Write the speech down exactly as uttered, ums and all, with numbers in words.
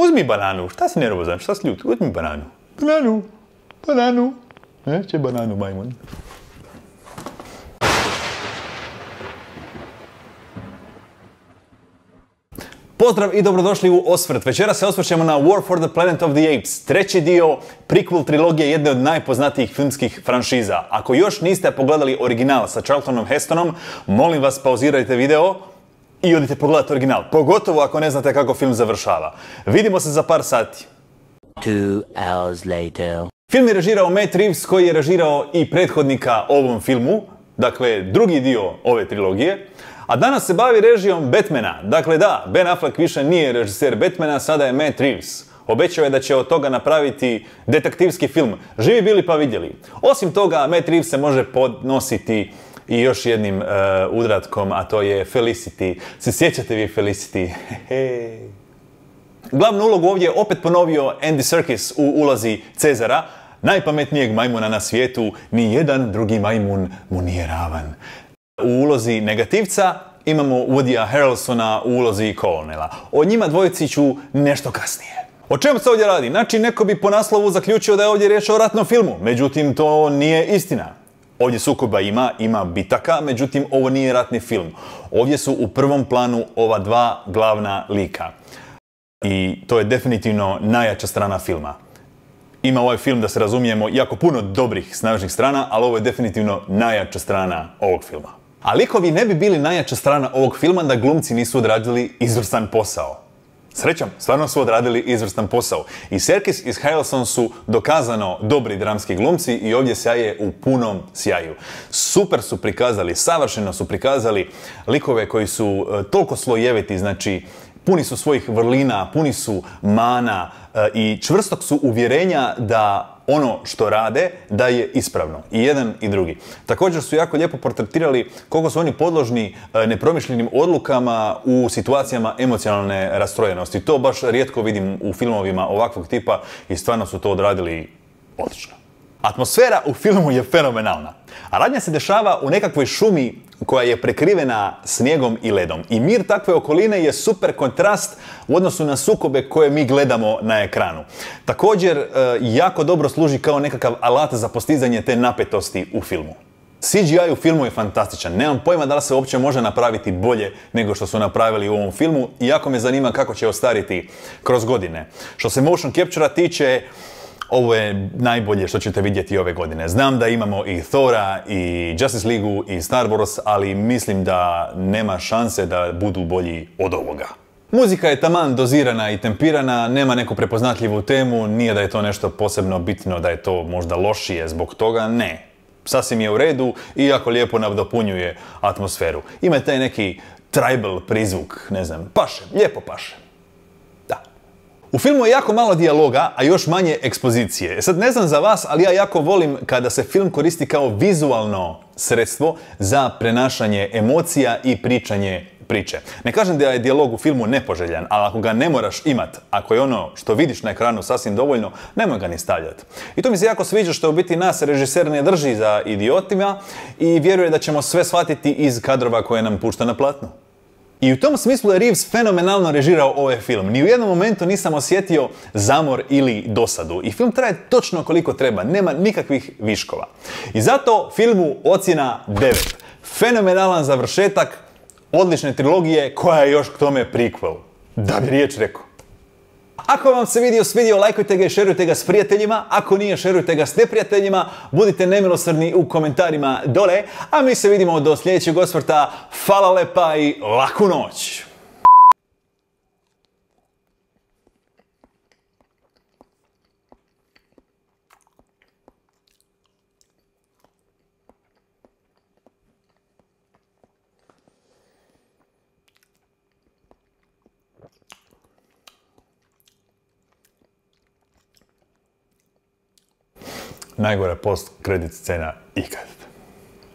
Uzmi bananu, šta si nervozan, šta si ljut? Uzmi bananu. Bananu, bananu. Neće bananu, majmun. Pozdrav i dobrodošli u Osvrt. Večera se osvrćemo na War for the Planet of the Apes, treći dio prequel trilogije jedne od najpoznatijih filmskih franšiza. Ako još niste pogledali original sa Charltonom Hestonom, molim vas pauzirajte video i odite pogledati original, pogotovo ako ne znate kako film završava. Vidimo se za par sati. Two hours later. Film je režirao Matt Reeves, koji je režirao i prethodnika ovom filmu, dakle drugi dio ove trilogije. A danas se bavi režijom Batmana. Dakle da, Ben Affleck više nije režiser Batmana, sada je Matt Reeves. Obećao je da će od toga napraviti detektivski film. Živi bili pa vidjeli. Osim toga, Matt Reeves se može podnositi i još jednim uh, udratkom, a to je Felicity. Se sjećate vi Felicity? Glavnu ulogu ovdje je opet ponovio Andy Serkis u ulozi Cezara, najpametnijeg majmuna na svijetu. Ni jedan drugi majmun mu nije ravan. U ulozi negativca imamo Woodyja Harrelsona u ulozi Colonela. O njima dvojici ću nešto kasnije. O čemu se ovdje radi? Znači, neko bi po naslovu zaključio da je ovdje riječ o ratnom filmu. Međutim, to nije istina. Ovdje sukoba ima, ima bitaka, međutim, ovo nije ratni film. Ovdje su u prvom planu ova dva glavna lika. I to je definitivno najjača strana filma. Ima ovaj film, da se razumijemo, jako puno dobrih, snažnih strana, ali ovo je definitivno najjača strana ovog filma. A likovi ne bi bili najjača strana ovog filma da glumci nisu odradili izvrstan posao. Srećom, stvarno su odradili izvrstan posao. I Serkis i Harrelson su dokazano dobri dramski glumci i ovdje sjaje u punom sjaju. Super su prikazali, savršeno su prikazali likove koji su uh, toliko slojeviti, znači puni su svojih vrlina, puni su mana uh, i čvrstog su uvjerenja da ono što rade, da je ispravno. I jedan i drugi. Također su jako lijepo portretirali koliko su oni podložni nepromišljenim odlukama u situacijama emocionalne rastrojenosti. To baš rijetko vidim u filmovima ovakvog tipa i stvarno su to odradili odlično. Atmosfera u filmu je fenomenalna. A radnja se dešava u nekakvoj šumi koja je prekrivena snijegom i ledom. I mir takve okoline je super kontrast u odnosu na sukobe koje mi gledamo na ekranu. Također, jako dobro služi kao nekakav alat za postizanje te napetosti u filmu. C G I u filmu je fantastičan. Nemam pojma da li se uopće može napraviti bolje nego što su napravili u ovom filmu. I jako me zanima kako će ostariti kroz godine. Što se motion capture-a tiče, ovo je najbolje što ćete vidjeti ove godine. Znam da imamo i Thora, i Justice League-u, i Star Wars, ali mislim da nema šanse da budu bolji od ovoga. Muzika je taman dozirana i tempirana, nema neku prepoznatljivu temu, nije da je to nešto posebno bitno, da je to možda lošije zbog toga, ne. Sasvim je u redu i jako lijepo nadopunjuje atmosferu. Ima taj neki tribal prizvuk, ne znam, paše, lijepo paše. U filmu je jako malo dijaloga, a još manje ekspozicije. Sad ne znam za vas, ali ja jako volim kada se film koristi kao vizualno sredstvo za prenašanje emocija i pričanje priče. Ne kažem da je dijalog u filmu nepoželjan, ali ako ga ne moraš imat, ako je ono što vidiš na ekranu sasvim dovoljno, nemoj ga ni stavljati. I to mi se jako sviđa što u biti nas režiser ne drži za idiotima i vjeruje da ćemo sve shvatiti iz kadrova koje nam pušta na platnu. I u tom smislu je Reeves fenomenalno režirao ovaj film. Ni u jednom momentu nisam osjetio zamor ili dosadu. I film traje točno koliko treba, nema nikakvih viškova. I zato filmu ocjena devet. Fenomenalan završetak odlične trilogije koja je još k tome prequel. Da bi riječ rekao. Ako vam se video svidio, lajkujte ga i šerujte ga s prijateljima. Ako nije, šerujte ga s neprijateljima. Budite nemilosrdni u komentarima dole. A mi se vidimo do sljedećeg osvrta. Hvala lepa i laku noć! Najgora post-kredit scena ikad.